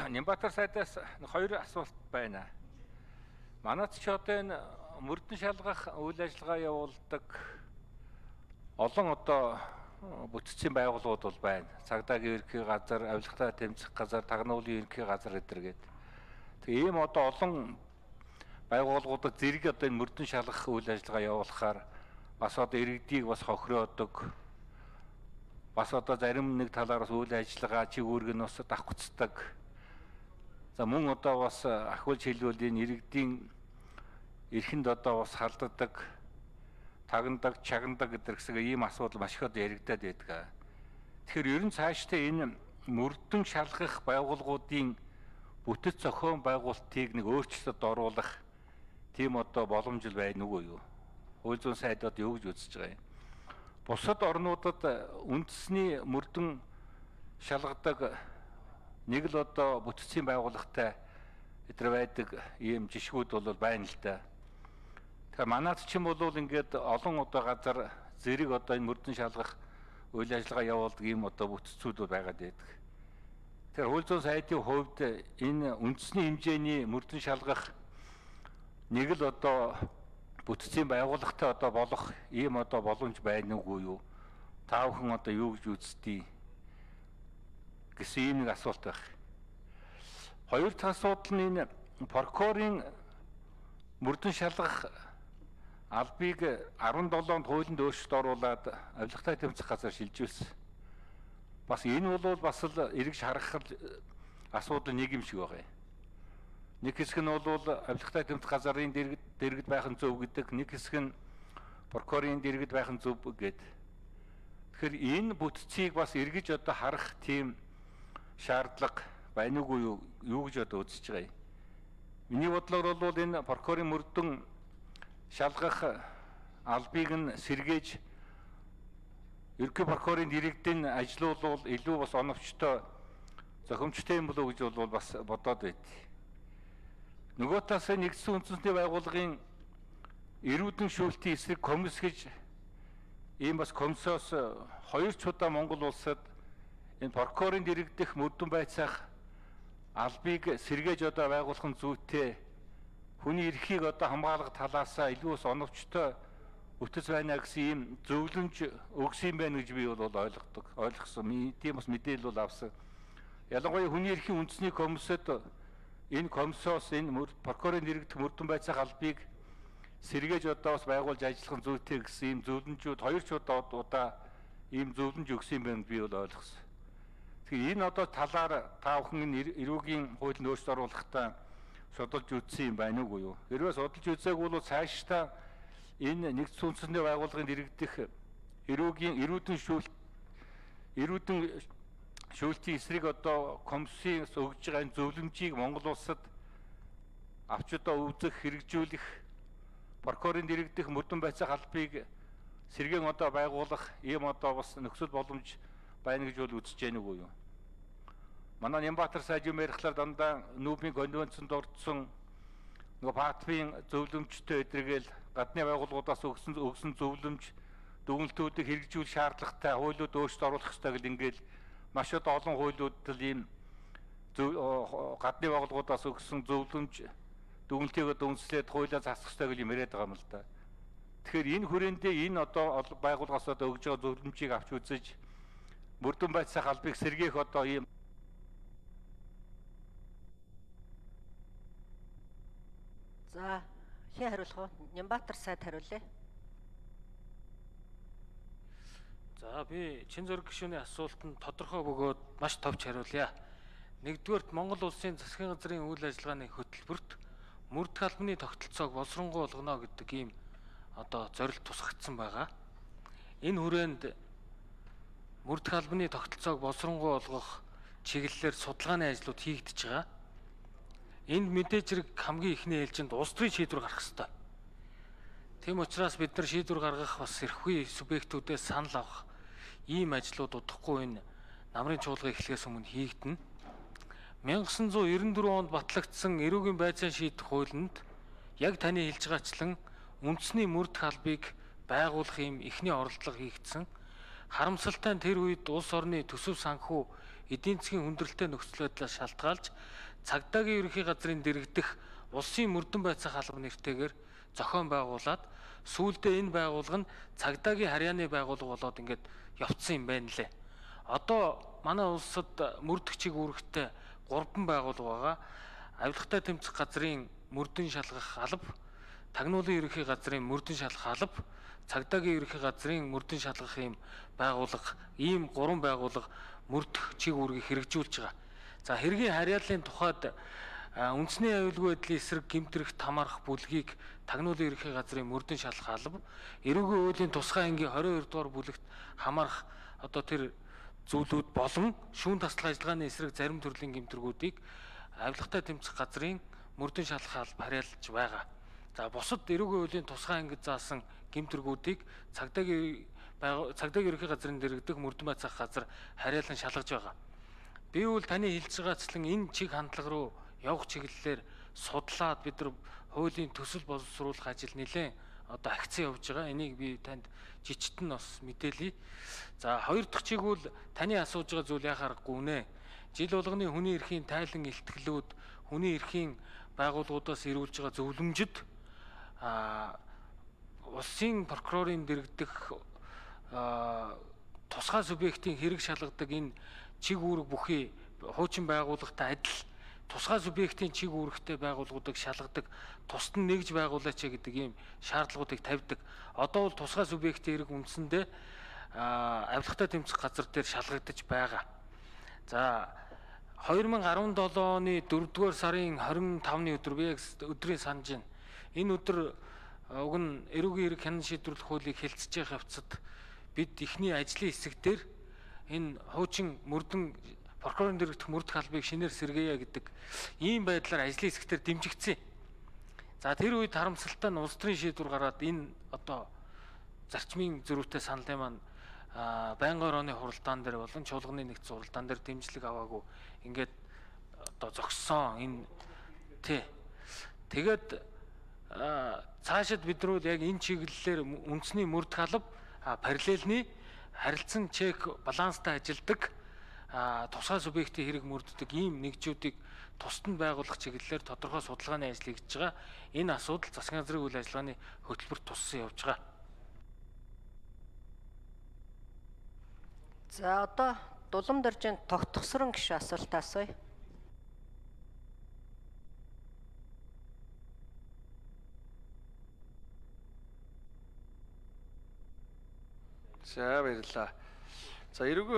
Нямбатар сайдаас хоёр асуулт байна. Манайд ч одоо энэ мөрдөн шалгах үйл ажиллагаа явуулдаг олон одоо бүтцийн байгууллагууд бол байна. Цагдаагийн ерөнхий газар, авилгатай тэмцэх газар, тагнуулын ерөнхий газар гэдэргээд. Тэгээ ийм одоо олон байгууллагуудад зэрэг одоо энэ мөрдөн шалгах үйл ажиллагаа явуулахаар бас одоо иргэдийг бас хохироодог. Бас одоо зарим нэг талаараас үйл ажиллагаа чигүүрг нь бас давхцдаг. За мөн одоо бас ахвалж хэлбэл энэ иргэдийн эрхэнд одоо бас халддаг, тагнадаг, чагнадаг гэдэг ийм асуудал маш их одоо яригдаад байдаг. Тэгэхээр ер нь цаашдаа энэ мөрдөн шалгах байгууллагуудын бүтэц зохион байгуулалтыг нэг өөрчлөлтөд оруулах тийм одоо боломж байна уу юу? Хууль зүйн сайдад юу гэж үзэж байгаа юм? Бусад орнуудад үндэсний мөрдөн шалгадаг нэг л одоо бүтцийн байгууллагатай эдгээр байдаг ийм жишгүүд бол байна л да. Тэгэхээр манайд ч юм бол ингээд олон одоо газар зэрэг одоо энэ мөрдөн шалгах үйл ажиллагаа явуулдаг ийм одоо бүтцүүд байгаад байдаг. Тэгэхээр хууль зүйн сайдын хувьд энэ үндэсний хэмжээний мөрдөн шалгах нэг л одоо бүтцийн байгууллагатай одоо болох ийм одоо боломж байна уу юу? Та бүхэн одоо юу гэж үздэг гэсэн ийм нэг асуулт байх. Хоёр дахь асуудал нь энэ прокурорын мөрдөн шалгах албыг 17-нд хуулинд өөрчлөлт оруулаад авилгатай тэмцэх газар шилжүүлсэн. Бас энэ бол бас л эргэж харах асуудал нэг юм шиг байна. Нэг хэсэг нь бол авилгатай тэмцэх газрын дэргэд байх нь зөв гэдэг, нэг хэсэг нь прокурорын дэргэд байх нь зөв гэдэг. Тэгэхээр энэ бүтцийг бас эргэж одоо харах тийм шаардлага байна уу юу гэж одоо үзэж байгаа юм. Миний бодлоор бол энэ прокурорын мөрдөн шалгах албыг нь сэргээж ерөнхий прокурорын дэргэдийн ажил бол илүү бас оновчтой, зохимжтой юм болов уу гэж бол бас бодоод байд. Нөгөө талаас нэгдсэн үндэсний байгууллагын эрүүдэн шүүлтийн эсрэг комисс гэж ийм бас комиссоос хоёр ч удаа Монгол улсад энэ прокурорын дэргэдэх мөрдөн байцаах албыг сэргээж одоо байгуулах нь зүйтэй, хүний эрхийг одоо хамгаалах талаасаа илүү оновчтой бүтэц байна гэсэн ийм зөвлөмж өгсөн байна гэж би бол ойлгосон. Тийм бас мэдээлэл бол авсан. Ялангуяа хүний эрхийн үндэсний комиссод энэ комиссоос энэ прокурорын дэргэдэх мөрдөн байцаах албыг сэргээж одоо бас байгуулж ажиллах нь зүйтэй гэсэн ийм зөвлөмжүүд хоёр ч удаа ийм зөвлөмж өгсөн байна би бол ойлгосон. Тэгэхээр энэ одоо талаар та бүхэн эрүүгийн хуулинд өөрчлөлт оруулахдаа судалж үзсэн юм байна уу юу? Хэрвээ судалж үзээгүй бол цаашдаа энэ нэгдсэн үндэсний байгууллагын дэргэдэх эрүүдэн шүүлтийн эсрэг одоо комиссийн өгж байгаа энэ зөвлөмжийг Монгол улсад авч одоо үзэх, хэрэгжүүлэх, прокурорын дэргэдэх мөрдөн байцаах албыг сэргээн одоо байгуулах ийм одоо бас нөхцөл боломж байна гэж бол үзэж байна уу юу? Манай Нямбатар сайд юм ярихлаар дандаа Нүүбийн конвенцэнд ордсон нөгөө ПАТФ-ийн зөвлөмжтэй эдэргээл гадны байгууллагуудаас өгсөн зөвлөмж дүгнэлтүүдийг хэрэгжүүлэх шаардлагатай хуулиуд өөрчлөлт оруулах хэрэгтэй гэл ингээл маш олон хуулиуд л ийм гадны байгууллагуудаас өгсөн зөвлөмж дүгнэлтийг үндэслээд хуулиа засах хэрэгтэй гэл юм яриад байгаа юм л да. Тэгэхээр энэ хүрээндээ энэ одоо байгууллагаас одоо өгж байгаа зөвлөмжийг авч үзэж мөрдөн байцаах албыг сэргээх одоо ийм За хин хариулах уу? Нямбатар сайд хариулъя. За би чин зөрг гишүүний асуултанд тодорхой бөгөөд маш товч хариулъя. Нэгдүгээрт Монгол улсын засгийн газрын үйл ажиллагааны хөтөлбөрт мөрдөх албаны тогтолцоог боловсронгуй болгоно гэдэг ийм одоо зорилт тусгагдсан байгаа. Энэ хүрээнд мөрдөх албаны тогтолцоог боловсронгуй болгох чиглэлээр судалгааны ажлууд хийгдэж байгаа. Энд мэдээж хэрэг хамгийн ихний ээлжинд улс төрийн шийдвэр гарах ёстой. Тийм учраас бид нар шийдвэр гаргах бас эрхүй субъектүүдээс санал авах ийм ажлууд удахгүй энэ намрын чуулган эхлэхээс өмнө хийгдэнэ. 1994 онд батлагдсан эрүүгийн байцаан шийдэх хуулинд яг таны хэлж байгаачлан үндэсний мөрдөх албыг байгуулах ийм эхний оролдлого хийгдсэн. Харамсалтай нь тэр үед улс орны төсөв санхүү эдийн засгийн хүндрэлтэй нөхцөл байдлаас шалтгаалж цагдаагийн ерөнхий газрын дэргэдэх улсын мөрдөн байцаах алба нэртэйгээр зохион байгуулад сүүлдээ энэ байгууллага нь цагдаагийн харьяаны байгууллага болоод ингээд явцсан юм байна лээ. Одоо манай улсад мөрдөх чиг үүрэгтэй 3 байгууллага байгаа. Авилгатай тэмцэх газрын мөрдөн шалгах алба, тагнуулын ерөнхий газрын мөрдөн шалгах алба, цагдаагийн ерөнхий газрын мөрдөн шалгах ийм байгууллага, ийм 3 байгууллага мөрдөх чиг үүргийг хэрэгжүүлж байгаа. За хэргийн харьяаллын тухайд үндэсний аюулгүй байдлын эсрэг гэмтрэх тамарх бүлгийг тагнуулын ерөнхий газрын мөрдөн шалгах алба, эрүүгийн хуулийн тусгай ангийн 22 дугаар бүлэгт хамаарах одоо тэр зүйлүүд болон шүүн таслах ажиллагааны эсрэг зарим төрлийн гэмтргүүдийг авилгатай тэмцэх газрын мөрдөн шалгах алба харьяалж байгаа. За бусад эрүүгийн хуулийн тусгай ангид заасан гэмтргүүдийг цагдаагийн ерөнхий газрын дэргэдэх мөрдөн байцаах газар харьяалан шалгаж байгаа. Би бол таны хэлж байгаачлан энэ чиг хандлага руу явах чиглэлээр судлаад бид нар хуулийн төсөл боловсруулах ажил нэлээд одоо агцсан явж байгаа. Энийг би танд жижигтэн бас мэдээлье. За хоёр дахь чиг бол таны асууж байгаа зүйл яхаарахгүй үнэ. Жил болгоны хүний эрхийн тайлан илтгэлүүд, хүний эрхийн байгууллагуудаас ирүүлж байгаа зөвлөмжөд улсын прокурорын дэргэдэх тусгай субъектийн хэрэг шалгадаг энэ чиг үүрэг бүхий хуучин байгууллагатай адил тусгай субъектийн чиг үүрэгтэй байгууллагуудыг шалгадаг, тусад нь нэгж байгуулаач гэдэг ийм шаардлагуудыг тавьдаг. Одоо бол тусгай субъектийн хэрэг үндсэндээ авилгатай тэмцэх газар дээр шалгагдаж байгаа. За 2017 оны 4-р сарын 25-ны өдөр би яг өдрийн санаж байна. Энэ өдөр уг нь эрүүгийн хэрэг хянан шийдвэрлэх хуулийг хэлцэж явах явцад бид эхний ажлын хэсэг дээр энэ хуучин мөрдөн прокурорын дэргэдэх мөрдөх албыг шинээр сэргээе гэдэг ийм байдлаар ажлын хэсгээр дэмжигдсэн. За тэр үед харамсалтай нь улс төрийн шийдвэр гараад энэ одоо зарчмын зөрүүтэй саналын маань байнгын орооны хуралдаан дээр болон чуулганы нэгдсэн хуралдаан дээр дэмжлэг аваагүй ингээд одоо зогссон энэ тий. Тэгээд цаашид бид нар яг энэ чиглэлээр үндэсний мөрдөх алба параллельны харилцан чек баланстай ажилдаг тусгай субъектийн хэрэг мөрддөг ийм нэгжүүдийг тусад нь байгуулах чиглэлээр тодорхой судалгааны ажил хийж байгаа. Энэ асуудал засгийн газрын үйл ажиллагааны хөтөлбөрт туссан явж байгаа. За одоо Дулам доржийн тогтгосрон гишүүн асуулт асууя. За баярлалаа. За эрүүгийн